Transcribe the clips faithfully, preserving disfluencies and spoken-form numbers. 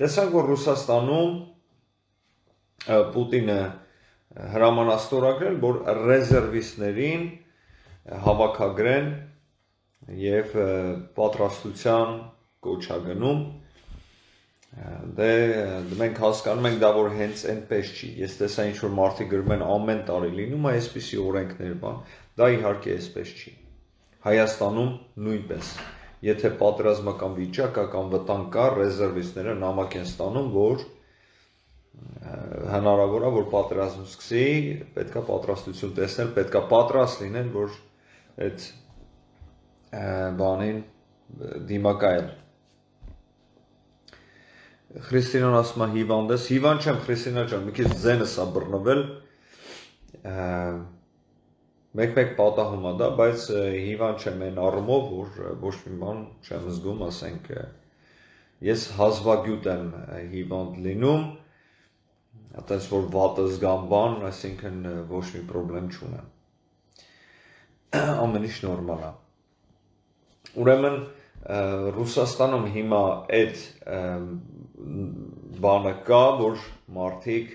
տեսանք, որ Ռուսաստանում Պուտինը հրաման է ստորագրել, որ ռեզերվիստներին հավաքագրեն եւ պատրաստության կոչագնում դե մենք հասկանում ենք դա որ հենց այնպես չի ես տեսա ինչ որ մարդիկ գրում են ամեն տարի լինում է այսպիսի օրենքներ բան դա իհարկե այսպես չի Հայաստանում նույնպես եթե պատերազմական վիճակ կա կամ վտանգ կա ռեզերվիստները նամակ են ստանում որ հնարավոր է որ պատերազմ սկսի պետքա պատրաստություն տեսնել պետքա պատրաստ լինեն որ այդ բանին դիմակայել Քրիստինան ասում է հիվանդ ես, հիվանդ չեմ Քրիստինա ջան, մի քիչ ձենս է բռնվել, մեկ-մեկ պատահում է դա, բայց հիվանդ չեմ այն առումով, որ ոչ մի բան չեմ զգում, ասենք, ես հազվագյուտ եմ հիվանդ լինում, այտենց որ վատը զգամ բան, այսինքն ոչ մի պրոբլեմ չունեմ, ամեն ինչ նորմալ է, ուրեմն Ռուսաստանում հիմա այդ բանը կա, որ մարդիկ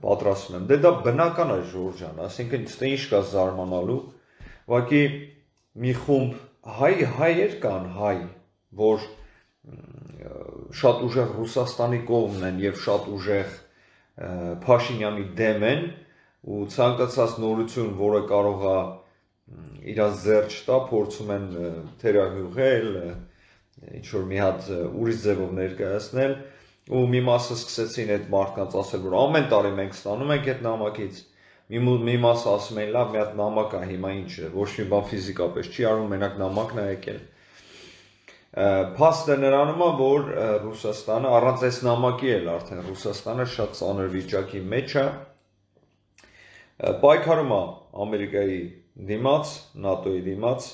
պատրաստում են։ Դե դա բնական է Ժորժ ջան, ասինքն ստե ինչ կա զարմանալու, ուղղակի մի խումբ հայ հայեր կան հայ, որ շատ ուժեղ Ռուսաստանի կողմն են եւ շատ ուժեղ Փաշինյանի դեմ են ու ցանկացած նորություն, որը կարող է իրաց ձեռք չտա, փորձում են թերահյուղել, ինչ-որ մի հատ ուրիշ ձևով ներկայացնել ու մի մասը սկսեցին այդ մարդկանց ասել, որ ամեն տարի մենք ստանում ենք այդ նամակից, մի մասը ասում են, լավ, մի հատ նամակ է, հիմա ինչ է, ոչ մի բան ֆիզիկապես չի արվում, մենակ նամակն է եկել։ Փաստը նրանում է, որ Ռուսաստանը, առանց այս նամակի էլ արդեն Ռուսաստանը շատ ծանր վիճակի մեջ է, պայքարում է Ամերիկայի դիմաց, նատոյի դիմաց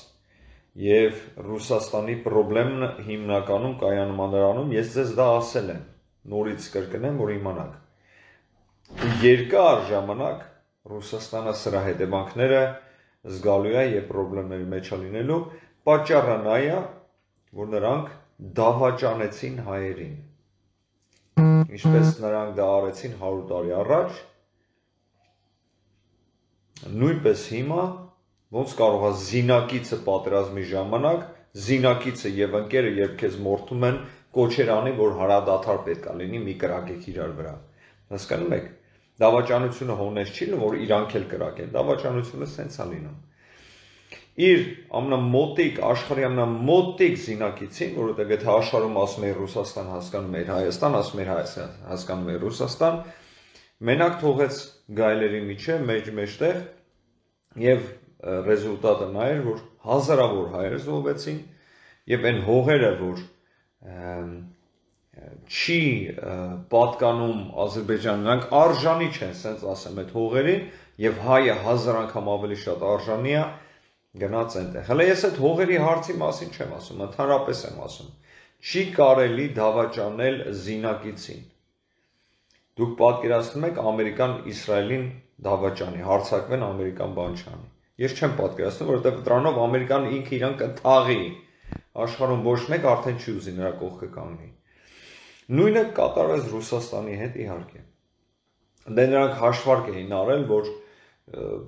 և Ռուսաստանի պրոբլեմն հիմնականում կայանում է նրանում, ես ձեզ դա ասել եմ, նորից կրկնեմ, որ իմանաք։ Երկար ժամանակ Ռուսաստանը սրա հետևանքները զգալու է և պրոբլեմների մեջ է լինելու, պատճառը նա է, որ նրանք դավաճանեցին հայերին։ Ինչպես նրանք դա արեցին հարյուր տարի առաջ, նույնպես հիմա ոնց կարող է զինակիցը պատերազմի ժամանակ, զինակիցը և ընկերը, երբ քեզ մորթում են, կոչեր անի, որ հարադադար պետք է լինի, մի կրակեք իրար վրա։ Հասկանում եք, դավաճանությունը հոնես չի լինում, որ իրանք էլ կրակեն, դավաճանությունը սենց է լինում։ Իր ամենամոտիկ, աշխարհի ամենամոտիկ զինակիցին, որովհետև եթե աշխարհում ասում է Ռուսաստան, հասկանում է Հայաստան, ասում է Հայաստան, հասկանում է Ռուսաստան, մենակ թողեց գայլերի միջև, մեջ-մեջտեղ և ռեզուլտատը նա էր, որ հազարավոր հայեր զոհվեցին և այն հողերը, որ չի պատկանում Ադրբեջան, նրանք արժանի չեն, սենց ասեմ, այդ հողերին և հայը հազար անգամ ավելի շատ արժանի է գնաց այնտեղ։ Հələ ես այդ հողերի հարցի մասին չեմ ասում, ընդհանրապես եմ ասում, չի կարելի դավաճանել զինակիցին։ Դուք պատկերացնում եք Ամերիկան Իսրայելին դավաճանի, հարձակվեն Ամերիկան բան չանի։ Ես չեմ պատկերացնում, որովհետև դրանով Ամերիկան ինքը իրան կթաղի, աշխարհում ոչ մեկ արդեն չի ուզի նրա կողքը կանգնի։ Նույնը կատարվեց Ռուսաստանի հետ իհարկե։ Դե նրանք հաշվարկ էին արել, որ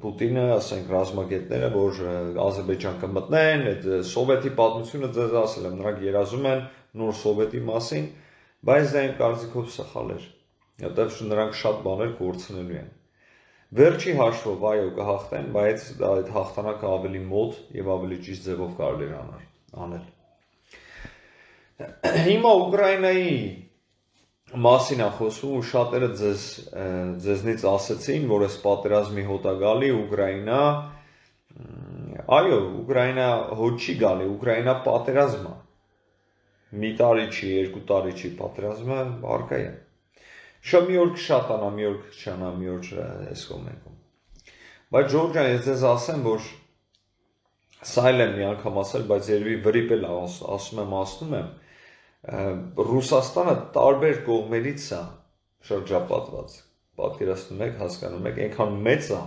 Պուտինը, ասենք, ռազմագետները, որ Ադրբեջան կմտնեն, այդ սովետի պատմությունը ձեզ ասել եմ, նրանք երազում են նոր սովետի մասին, բայց դա իմ կարծիքով սխալ էր, որովհետև նրանք շատ բաներ կորցնելու են։ Վերջի հաշվով այո կհաղթեն, բայց այդ հաղթանակը ավելի մոտ և ավելի ճիշտ ձևով կարելի է անել։ Հիմա Ուկրաինայի մասին է խոսում ու շատերը ձեզնից ասեցին, որ այս պատերազմի հոտ է գալի Ուկրաինա, այո, Ուկրաինա հոտ չի գալի, Ուկրաինա պատերազմ է, մի տարի չի, երկու տարի չի, պատերազմը առկա է։ Շատ մի օր կշատանա, մի օր կշանա, մի օր այս կողմենքում։ Բայց Ժորժ ջան, ես ձեզ ասեմ, որ սա էլ եմ մի անգամ ասել, բայց երևի վրիպ էլ ասում եմ, ասում եմ, Ռուսաստանը տարբեր կողմերից է շրջապատված, պատկերացնում եք, հասկանում եք, այնքան մեծ է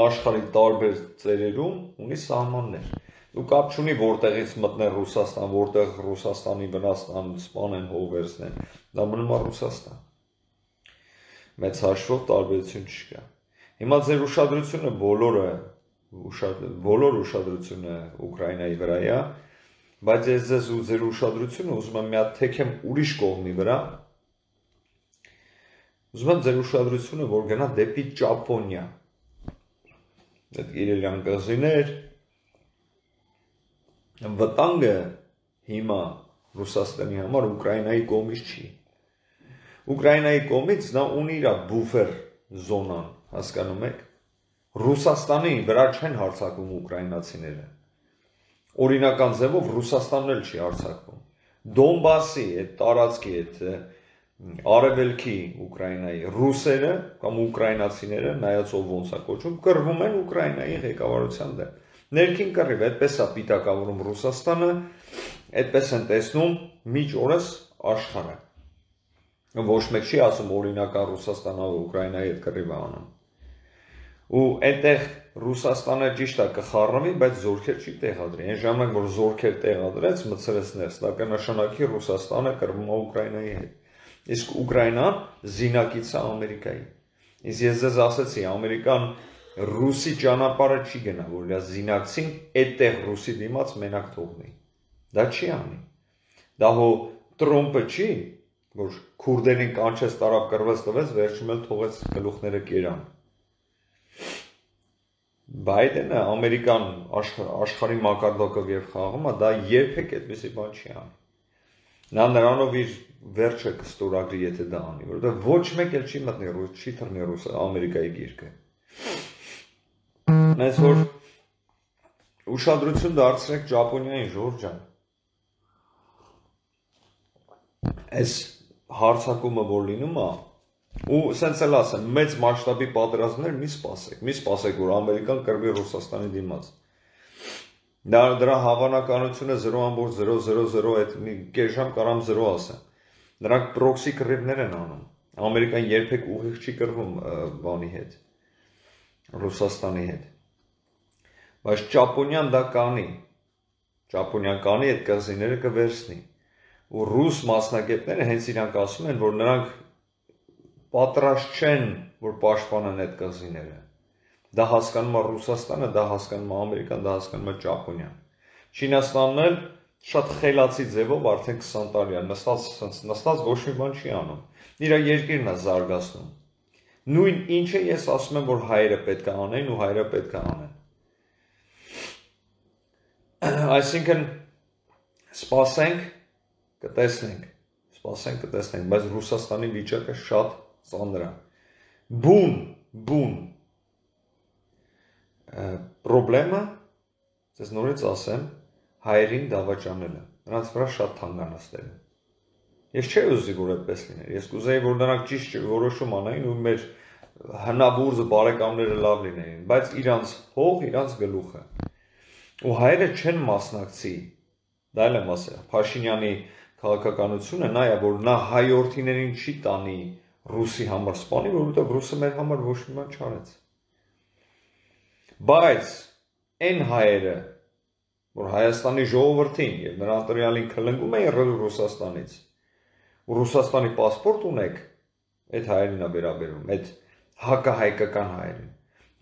աշխարհի տարբեր ծերերում ունի սահմաններ։ ու կապ չունի որտեղից մտնեն Ռուսաստան, որտեղ Ռուսաստանի Վնաստան սպանեն, հողերցնեն, դա մնում է Ռուսաստան։ Մեծ հաշվով տարբերություն չկա։ Հիմա ձեր ուշադրությունը բոլորը բոլոր ուշադրությունը Ուկրաինայի վրա է, բայց ես ձեզ ու ձեր ուշադրությունը ուզում եմ մի հատ թեքեմ ուրիշ կողմի վրա։ Ուզում եմ ձեր ուշադրությունը որ գնա դեպի Ճապոնիա։ Այդ իրելյան կղզիներ վտանգը հիմա Ռուսաստանի համար Ուկրաինայի կողմից չի։ Ուկրաինայի կողմից նա ունի իր բուֆեր զոնան, հասկանում եք։ Ռուսաստանի վրա չեն հարձակվում ուկրաինացիները։ Օրինական ձևով Ռուսաստանն էլ չի հարձակվում։ Դոնբասի այդ տարածքի այդ արևելքի Ուկրաինայի ռուսերը կամ ուկրաինացիները, նայած ով ոնց է կոչում, կռվում են Ուկրաինայի ղեկավարության դեմ։ Ներքին կռիվ, այդպես է պիտակավորում Ռուսաստանը, այդպես են տեսնում միջ օրս աշխարհը։ Ոչ մեկ չի ասում օրինական Ռուսաստանը Ուկրաինայի հետ կռիվ է անում։ Ու այնտեղ Ռուսաստանը ճիշտ է կխառնվի, բայց զորքեր չի տեղադրի։ Այն ժամանակ որ զորքեր տեղադրեց, մցրեց ներս, դա կնշանակի Ռուսաստանը կռվում է Ուկրաինայի հետ։ Իսկ Ուկրաինան զինակից է Ամերիկայի։ Իսկ ես ձեզ ասացի, Ամերիկան Ռուսի ճանապարհը չի գնա, որ իր զինակցին այդտեղ Ռուսի դիմաց մենակ թողնի։ Դա չի անի։ Դա հո Տրոմպը չի, որ քուրդերին կանչեց, տարավ կռվեց, տվեց, վերջում էլ թողեց գլուխները կերան։ Բայդենը ամերիկան աշխարհի մակարդակով եւ խաղումը դա երբեք այդպեսի բան չի անի։ Նա նրանով իր վերջը կստորագրի, եթե դա անի, որովհետեւ ոչ մեկ էլ չի մտնի ռուս, չի թռնի ռուս Ամերիկայի գիրկը։ Մենք որ ուշադրություն դարձրեք Ճապոնիային, Ժորժ ջան։ Այս հարցակումը որ լինում է, ու սենց էլ ասեմ, մեծ մասշտաբի պատերազմներ մի սպասեք, մի սպասեք, որ Ամերիկան կռվի Ռուսաստանի դիմաց։ Դա դրա հավանականությունը զրո ամբողջ զրո զրո զրո այդ մի կես ժամ կարամ զրո ասեմ։ Նրանք պրոքսի կռիվներ են անում։ Ամերիկան երբեք ուղիղ չի կռվում բանի հետ, Ռուսաստանի հետ։ Բայց Ճապոնիան դա կանի։ Ճապոնիան կանի այդ կղզիները կվերցնի։ Ու ռուս մասնագետները հենց իրանք ասում են, որ նրանք պատրաստ չեն, որ պաշտպանեն այդ կղզիները։ Դա հասկանում է Ռուսաստանը, դա հասկանում է Ամերիկան, դա հասկանում է Ճապոնիան։ Չինաստանն էլ շատ խելացի ձևով արդեն քսան տարի է նստած, նստած ոչ մի բան չի անում։ Իր երկիրն է զարգացնում։ Նույն ինչը ես ասում եմ, որ հայերը պետք է անեն ու հայերը պետք է անեն։ Այսինքն սպասենք, կտեսնենք, սպասենք, կտեսնենք, բայց Ռուսաստանի վիճակը շատ ծանր է։ Բուն, բուն։ Պրոբլեմը, ես նորից ասեմ, հայերին դավաճանելը, նրանց վրա շատ թանկանացնել է։ Ես չէի ուզի, որ այդպես լիներ, ես կուզեի, որ նրանք ճիշտ որոշում անային ու մեր հնաբուրձ բարեկամները լավ լինեին, բայց իրանց հող, իրանց գլուխը։ Ու հայերը չեն մասնակցի, դա էլ եմ ասել, Փաշինյանի քաղաքականությունը նա է, որ նա հայորդիներին չի տանի ռուսի համար սպանի, որովհետև ռուսը մեր համար ոչ մի բան չարեց։ Բայց այն հայերը, որ Հայաստանի ժողովրդին եւ նրա ընտրյալին քլնգում էին Ռուսաստանից, ու Ռուսաստանի պասպորտ ունեք, այդ հայերին է վերաբերում, այդ հակահայկական հայերին։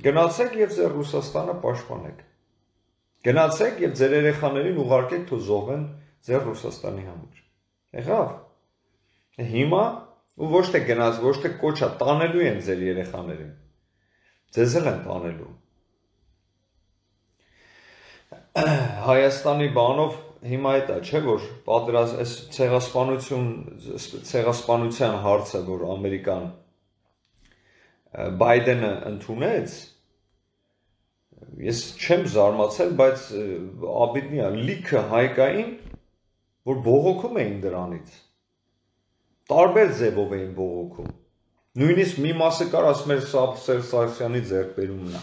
Գնացեք եւ ձեր Ռուսաստանը պաշտպանեք։ Գնացեք եւ ձեր երեխաներին ուղարկեք թող զոհվեն ձեր Ռուսաստանի համար։ Եղավ։ Հիմա ու ոչ թե գնաց, ոչ թե կոչա տանելու են ձեր երեխաներին։ Ձեզ էլ են տանելու։ Հայաստանի բանով հիմա այդ է, չէ՞ որ պատերազմ այս ցեղասպանություն, ցեղասպանության հարցը, որ Ամերիկան Բայդենը ընդունեց, ես չեմ զարմացել, բայց աբիդնի է, լիքը հայկային, որ բողոքում էին դրանից, տարբեր ձևով էին բողոքում, նույնիսկ մի մասը կար ասում էր Սերժ Սարգսյանի ձեռքբերումն է,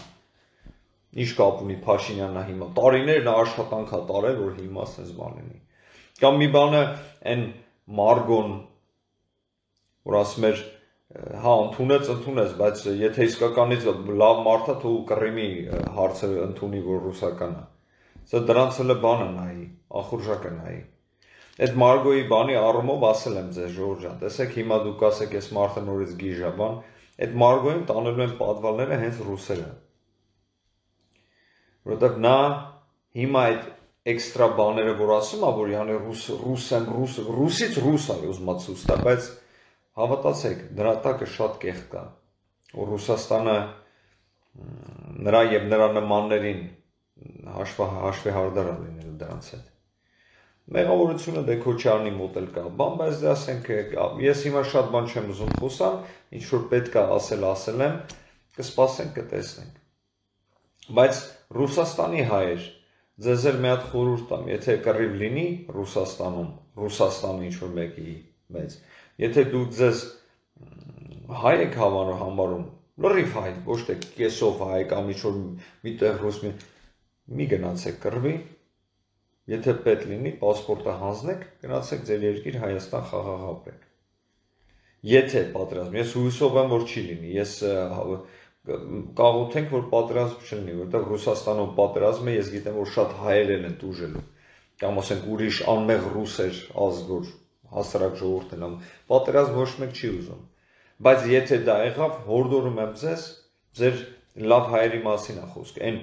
ինչ կապ ունի Փաշինյանն հիմա, տարիներ նա աշխատանք է տարել, որ հիմա ասես բան լինի, կամ մի բանը այն Մարգոն, որ ասում էր հա, ընդունեց, ընդունեց, բայց եթե իսկականից լավ մարդ է, թող Կռիմի հարցը ընդունի, որ ռուսական է։ Սա դրանց էլ բանը նայի, ախորժակը նայի։ Այդ Մարգոյի բանի առումով ասել եմ ձեզ Ժորժ ջան, տեսեք հիմա դուք ասեք այս մարդը նորից գիժա բան, այդ Մարգոյին տանելու են պատվալները հենց ռուսերը։ Որովհետև նա հիմա այդ էքստրա բաները որ ասում է, որ յանի ռուս ռուս եմ ռուս ռուսից ռուս է ուզում ցույց տա, բայց հավատացեք, դրա տակը շատ կեղտ կա, որ Ռուսաստանը նրա եւ նրա նմաններին հաշվի հաշվի հարդար լինելու դրանց հետ։ Մեղավորությունը դե Քոչարյանի մոտ էլ կա, բան, բայց դե ասենք ես հիմա շատ բան չեմ ուզում խոսալ, ինչ որ պետք է ասել, ասել եմ, կսպասենք, կտեսնենք։ Բայց Ռուսաստանի հայեր, ձեզ էլ մի հատ խորհուրդ տամ, եթե կռիվ լինի Ռուսաստանում, Ռուսաստանը ինչ որ մեկի մեծ, եթե դուք ձեզ հայ եք հավանում համարում, լրիվ հայ, ոչ թե կեսով հայ կամ ինչ որ միտեղ ռուս մի, մի գնացեք կռվի, եթե պետք լինի, պասպորտը հանձնեք, գնացեք ձեր երկիր Հայաստան խաղաղ ապրեք։ Եթե պատրաստ, ես հույսով եմ, որ չի լինի, ես կաղոթենք, որ պատրաստ չլինի, որտեղ Ռուսաստանում պատրաստում է, ես գիտեմ, որ շատ հայեր են տուժելու, կամ ասենք ուրիշ անմեղ ռուսեր ազգ, որ հասարակ ժողովուրդն են, պատրաստ ոչ մեկ չի ուզում։ Բայց եթե դա եղավ, հորդորում եմ ձեզ, ձեր լավ հայերի մասին է խոսքը, այն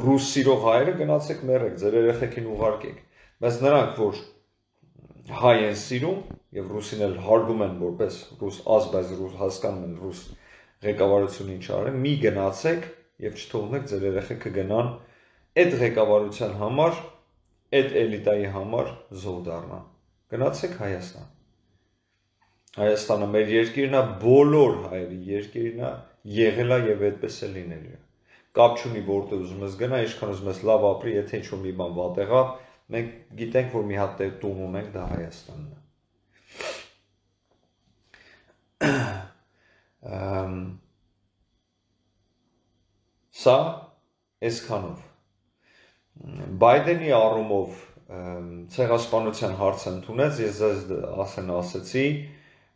ռուս սիրող հայերը գնացեք մեռեք, ձեր երեխեքին ուղարկեք, բայց նրանք, որ հայ են սիրում եւ ռուսին էլ հարգում են որպես ռուս ազգ, բայց ռուս հասկանում են ռուս ղեկավարությունը ինչ արել, մի գնացեք եւ չթողնեք ձեր երեխեքը գնան այդ ղեկավարության համար, այդ էլիտայի համար զոհ դառնան։ Գնացեք Հայաստան։ Հայաստանը մեր երկիրն է, բոլոր հայերի երկիրն է, եղել է եւ այդպես է լինելու է։ Կապ չունի որտեղ ուզում ես գնա, ինչքան ուզում ես լավ ապրի, եթե ինչ-որ մի բան վատ եղավ, մենք գիտենք, որ մի հատ տուն ունենք, դա Հայաստանն է։ Սա այսքանով։ Բայդենի առումով ցեղասպանության հարցը ընդունեց, ես ձեզ ասեն ասեցի,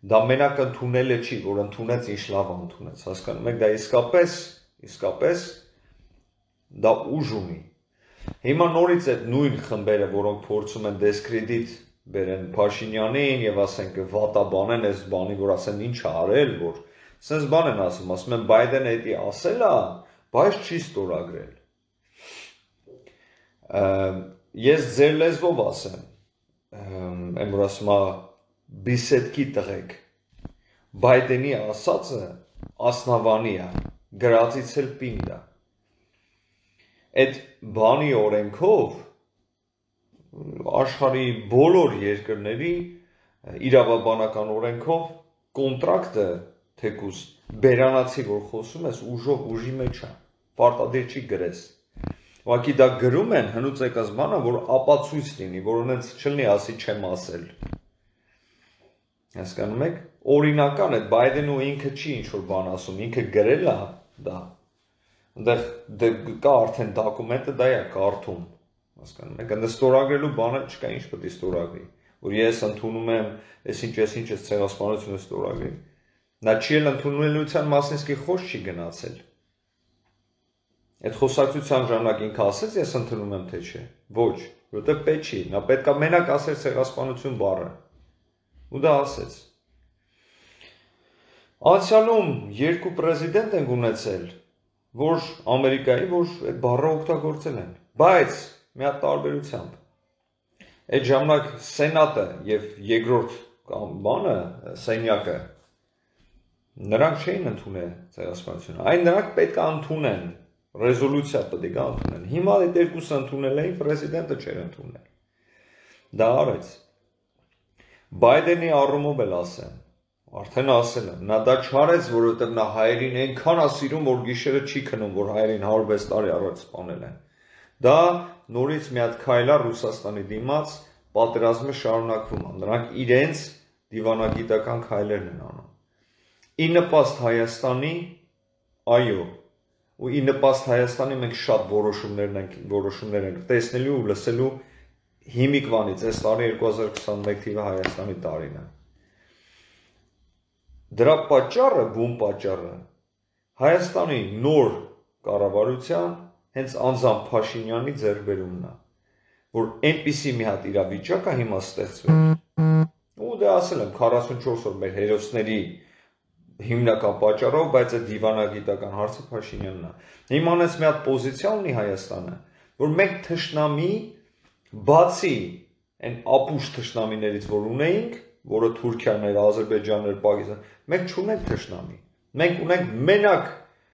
դա մենակ ընդունելը չի, որ ընդունեց ինչ լավ ընդունեց, հասկանում եք, դա իսկապես, իսկապես դա ուժ ունի։ Հիմա նորից այդ նույն խմբերը, որոնք փորձում են դեսկրեդիտ բերեն Փաշինյանին եւ ասենք վատաբանեն այս բանի, որ ասեն ինչ է արել, որ sense բան են ասում, ասում են Բայդենը դա ասել է, բայց չի ստորագրել։ Ես ձեր լեզվով ասեմ, եմ որ ասում է բիսետքի տղեկ, Բայդենի ասածը ասնավանի է, գրածից էլ պինդ է։ Այդ բանի օրենքով աշխարհի բոլոր երկրների իրավաբանական օրենքով կոնտրակտը թեկուզ բերանացի որ խոսում ես ուժով ուժի մեջ է, պարտադիր չի գրես։ Ուղղակի դա գրում են հնուց եկած բանը, որ ապացույց լինի, որ ունենց չլինի ասի չեմ ասել։ Հասկանում եք, օրինական է, Բայդենը ինքը չի ինչ-որ բան ասում, ինքը գրել է դա, այնտեղ կա արդեն դոկումենտը դա է կարդում, հասկանում եք, այնտեղ ստորագրելու բանը չկա, ինչ պետք է ստորագրի, որ ես ընդունում եմ, ես ինչ, ես ինչ, ես ցեղասպանությունը ստորագրի, նա չի էլ ընդունելության մասին իսկի խոսք չի գնացել, այդ խոսակցության ժամանակ ինքը ասեց, ես ընդունում եմ, թե չէ, ոչ, որտեղ պետք չի, նա պետք է մենակ ասել ցեղասպանություն բառը, ու դա ասեց։ Անցյալում երկու պրեզիդենտ են ունեցել, որ Ամերիկայի, որ այդ բառը օգտագործել են, բայց մի հատ տարբերությամբ։ Այդ ժամանակ սենատը եւ երկրորդ բանը, սենյակը, նրանք չէին ընդունել ցեղասպանությունը, այն նրանք պետք է ընդունեն, ռեզոլյուցիա պետք է ընդունեն։ Հիմա այդ երկուսը ընդունել էին, պրեզիդենտը չէր ընդունել։ Դա արեց։ Բայդենի առումով էլ ասեմ, արդեն ասել եմ, նա դա չարեց, որովհետև նա հայերին այնքան է սիրում, որ գիշերը չի քնում, որ հայերին հարյուր վեց տարի առաջ սպանել են։ Դա նորից մի հատ քայլ է Ռուսաստանի դիմաց, պատերազմը շարունակվում է։ Նրանք իրենց դիվանագիտական քայլերն են անում։ Ի նպաստ Հայաստանի, այո, ու ի նպաստ Հայաստանի մենք շատ որոշումներ ենք, որոշումներ ենք տեսնելու ու լսելու հիմիկվանից, այս տարի երկու հազար քսաներեք թիվը Հայաստանի տարին է։ Դրա պատճառը, բուն պատճառը, Հայաստանի նոր կառավարության հենց անձամբ Փաշինյանի ձեռքբերումն է։ որ այնպիսի մի հատ իրավիճակ է հիմա ստեղծվել։ Ու դե ասել եմ քառասունչորս օր մեր հերոսների հիմնական պատճառով, բայց այդ դիվանագիտական հարցը Փաշինյանն է։ Իմանես մի հատ պոզիցիա ունի Հայաստանը, որ մենք թշնամի բացի այն ապուշ թշնամիներից, որ ունեինք, որը Թուրքիան էր, Ադրբեջանն էր, Պակիստան, մենք չունենք թշնամի։ Մենք ունենք մենակ